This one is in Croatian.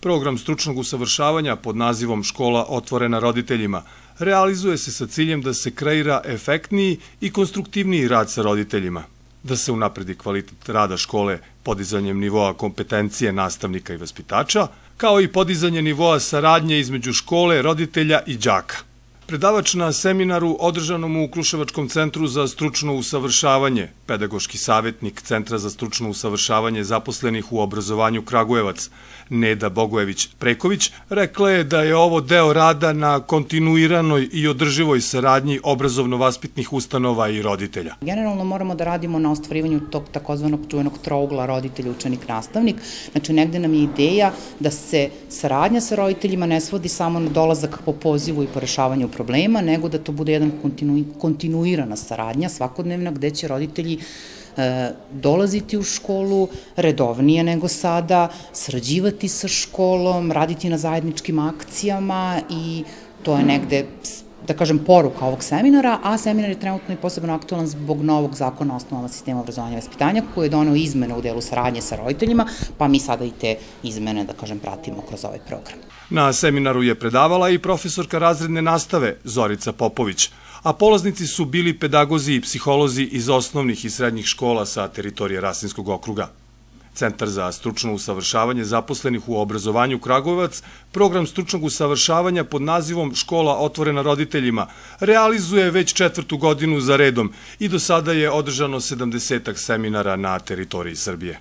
Program stručnog usavršavanja pod nazivom Škola otvorena roditeljima realizuje se sa ciljem da se kreira efektniji i konstruktivniji rad sa roditeljima, da se unapredi kvalitet rada škole podizanjem nivoa kompetencije nastavnika i vaspitača, kao i podizanje nivoa saradnje između škole, roditelja i đaka. Predavač na seminaru održanom u Kruševačkom centru za stručno usavršavanje, pedagoški savjetnik Centra za stručno usavršavanje zaposlenih u obrazovanju Kragujevac, Neda Bogojević-Preković, rekla je da je ovo deo rada na kontinuiranoj i održivoj saradnji obrazovno-vaspitnih ustanova i roditelja. Generalno moramo da radimo na ostvarivanju tog takozvanog čuvenog trougla roditelj, učenik, nastavnik. Znači, negde nam je ideja da se saradnja sa roditeljima ne svodi samo na dolazak po pozivu i po rešavanju problema, nego da to bude jedan kontinuirana saradnja svakodnevna gde će roditelji dolaziti u školu redovnije nego sada, sarađivati sa školom, raditi na zajedničkim akcijama i to je negde, da kažem, poruka ovog seminara, a seminar je trenutno i posebno aktualan zbog novog zakona o osnovama sistema obrazovanja i vaspitanja koji je doneo izmene u delu saradnje sa roditeljima, pa mi sada i te izmene, da kažem, pratimo kroz ovaj program. Na seminaru je predavala i profesorka razredne nastave Zorica Popović, a polaznici su bili pedagozi i psiholozi iz osnovnih i srednjih škola sa teritorije Rasinskog okruga. Centar za stručno usavršavanje zaposlenih u obrazovanju Kragujevac program stručnog usavršavanja pod nazivom Škola otvorena roditeljima realizuje već 4. godinu za redom i do sada je održano 70 seminara na teritoriji Srbije.